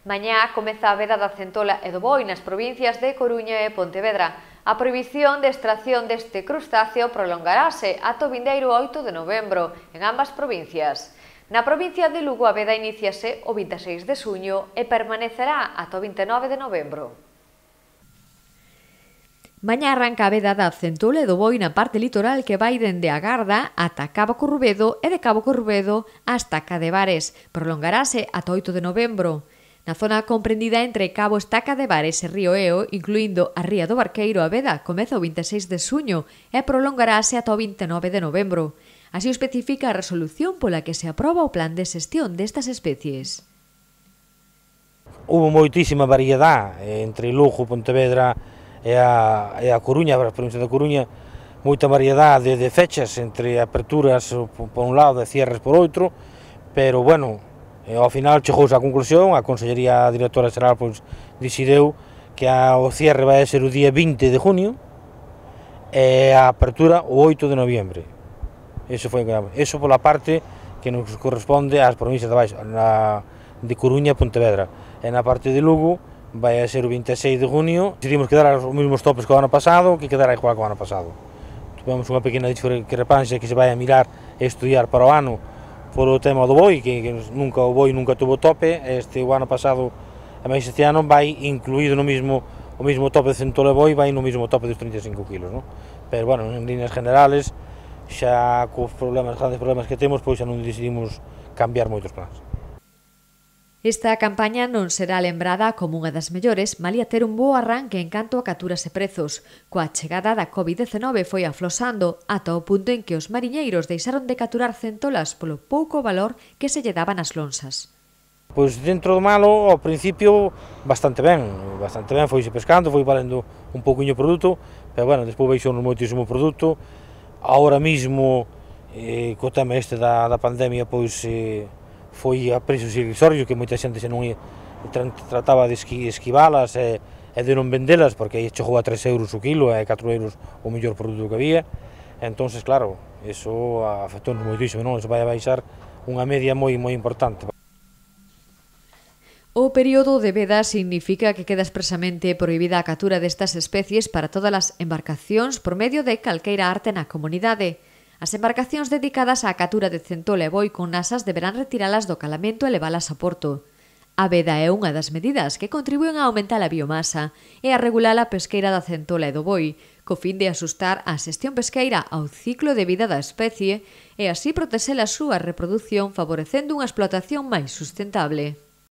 Mañá comeza a veda da centola e do boi nas provincias de Coruña e Pontevedra. A prohibición de extracción deste crustáceo prolongarase ata o vindeiro 8 de novembro en ambas provincias. Na provincia de Lugo a veda iníciase o 26 de xuño e permanecerá ata o 29 de novembro. Mañá arranca a veda da centola e do boi na parte litoral que vai dende a Garda ata Cabo Corrubedo e de Cabo Corrubedo hasta Cadevares. Prolongarase ata 8 de novembro. Na zona comprendida entre Cabo Estaca de Vares e Río Eo, incluindo a Ría do Barqueiro, a veda comeza o 26 de xuño e prolongarase ata o 29 de novembro. Así o especifica a resolución pola que se aproba o plan de xestión destas especies. Houve moitísima variedade entre Lugo, Pontevedra e a Coruña, a provincia da Coruña, moita variedade de fechas entre aperturas por un lado e cierres por outro, pero bueno, ao final chegouse á conclusión, a Consellería Directora Xeral decideu que o cierre vai ser o día 20 de junio e a apertura o 8 de noviembre. Eso pola parte que nos corresponde ás provincias de baixo, de Coruña e Pontevedra. E na parte de Lugo vai ser o 26 de junio. Decidimos quedar os mesmos topes que o ano pasado, que quedará igual que o ano pasado. Tivemos unha pequena discrepancia que se vai a mirar e estudiar para o ano polo tema do boi, que o boi nunca tuvo tope. O ano pasado, e máis este ano, vai incluído o mesmo tope de centola e boi, vai no mesmo tope dos 35 kg, non? Pero, bueno, en líneas generales, xa cos grandes problemas que temos, pois xa non decidimos cambiar moitos plans. Esta campaña non será lembrada como unha das mellores, malia ter un bo arranque en canto a capturas e prezos. Coa chegada da COVID-19 foi aflosando ata o punto en que os mariñeiros deixaron de capturar centolas polo pouco valor que se lle daban as lonxas. Pois dentro do malo, ao principio, bastante ben, foise pescando, foi valendo un pouquiño o produto, pero bueno, despois baixou moitísimo produto. Agora mesmo, co tema da pandemia, pois foi a preços irrisorios, que moita xente se non trataba de esquivalas e de non vendelas, porque aí chegou a 3 euros o kilo e 4 euros o mellor produto que había. Entón, claro, iso afectou-nos moitísimo, non? Iso vai a baixar unha media moi importante. O período de veda significa que queda expresamente prohibida a captura destas especies para todas as embarcacións por medio de calqueira arte na comunidade. As embarcacións dedicadas á captura de centola e boi con nasas deberán retiralas do calamento e levalas a porto. A veda é unha das medidas que contribúen a aumentar a biomasa e a regular a pesqueira da centola e do boi, co fin de asustar a xestión pesqueira ao ciclo de vida da especie e así protexer a súa reprodución favorecendo unha explotación máis sustentable.